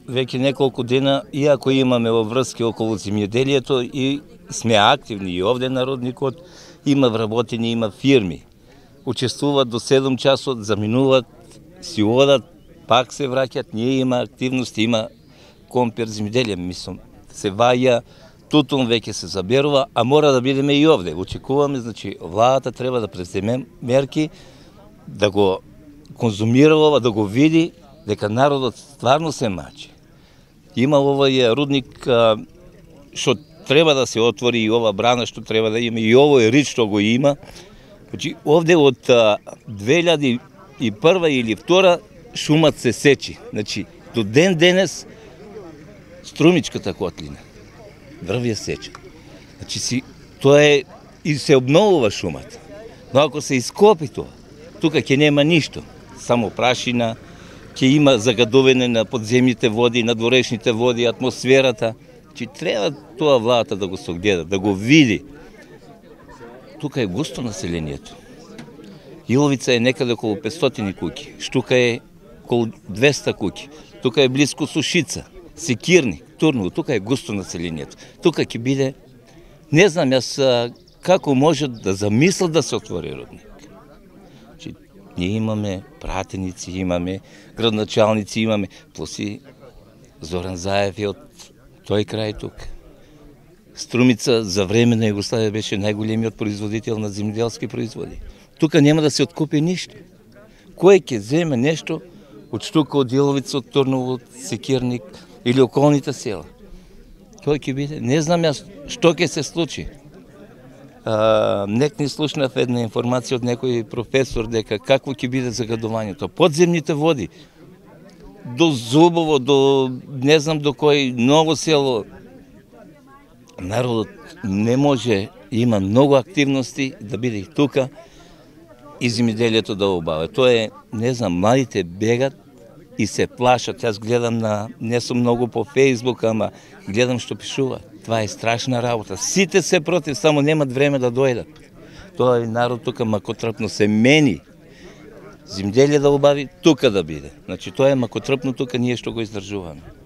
веќе неколку дена, иако имаме обврски околу земјоделието и сме активни и овде народникот, има вработени, има фирми. Учествуваат до 7 часот, заминуваат, си одат, пак се враќат, ние има активности, има компир земјоделие, мислам, се ваја, тутун веќе се заберува, а мора да бидеме и овде. Очекуваме, значи, владата треба да преземе мерки, да го конзумира ова, да го види, дека народот стварно се мачи. Има овој рудник што треба да се отвори и ова брана што треба да има и овој рид што го има. Значи, овде од 2001 или 2002 шумат се сечи. Значи, до ден денес Струмичката котлина врви сеча. Значи, тоа е и се обновува шумата. Но ако се ископи тоа, тука ќе нема ништо, само прашина, ќе има загадување на подземните води, на дворешните води, атмосферата. Че треба тоа владата да го согледа, да го види. Тука е густо населението. Иловица е некаде околу 500 куќи, Штука е околу 200 куќи, тука е близко Сушица, Секирник, Турново, тука е густо населението. Тука ќе биде, не знам јас како може да замислат да се отвори рудник. Ние имаме пратеници, имаме градначалници, имаме, плюси Зоран Заев е од тој крај тук. Струмица за време на Југославија беше најголемиот производител на земјоделски производи. Тука нема да се откупи ништо. Кој ќе земе нешто од Штука, од Иловица, од Турново, од Секирник или околните села? Тој ќе биде, не знам јас што ќе се случи. Некни слушнав една информација од некој професор дека какво ќе биде загадувањето. Подземните води, до Зубово, до не знам до кој ново село. Народот не може, има многу активности да биде и тука и земјоделието да обава. Тоа е, не знам, младите бегат и се плашат. Јас гледам не сум многу по Фејсбук, ама гледам што пишува. Това е страшна работа. Сите се против, само немат време да дојдат. Тоа е народ тука макотрпно се мени. Земјоделие да обави, тука да биде. Значи тоа е макотрпно тука ние што го издржуваме.